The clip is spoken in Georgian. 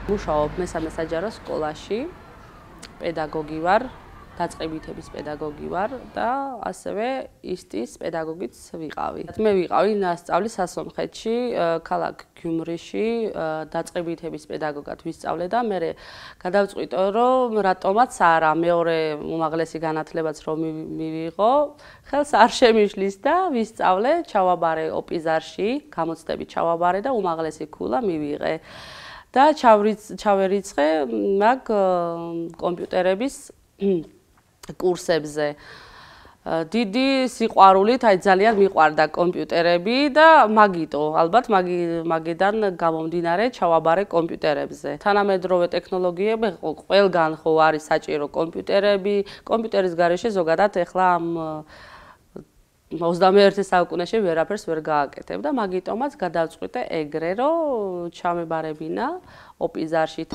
მუშაობ მესამე საჯარო სკოლაში, პედაგოგი ვარ, დაწყებითების პედაგოგი ვარ და ასევე ისტის პედაგოგიც ვიყავი. მე ვიყავი ნასწავლი სასონხეთში, ქალაქ გიუმრიში, დაწყებითების პედაგოგად ვისწავლე და მე გადავწყვიტე, რომ რატომაც არა, მეორე უმაღლესი განათლებაც რომ მივიღო, ხელს არ შემიშლის და ვისწავლე, ჩავაბარე ოპიზარში, გამოცდები ჩავაბარე და უმაღლესი ქულა მივიღე. და ჩავერიცხე მაგ კომპიუტერების კურსებზე. დიდი სიყვარულით, ძალიან მიყვარდა კომპიუტერები და მაგიტო, ალბათ მაგიდან გამომდინარე ჩავაბარე კომპიუტერებზე. თანამედროვე ტექნოლოგიები ყველგან ხო არის საჭირო კომპიუტერები, კომპიუტერის გარეშე ზოგადად ეხლა ამ 21 საუკუნეში ვერაფერს ვერ გააკეთებ და მაგიტომაც გადავწყვიტე ეგრე, რომ ჩამებარებინა ოპიზარში.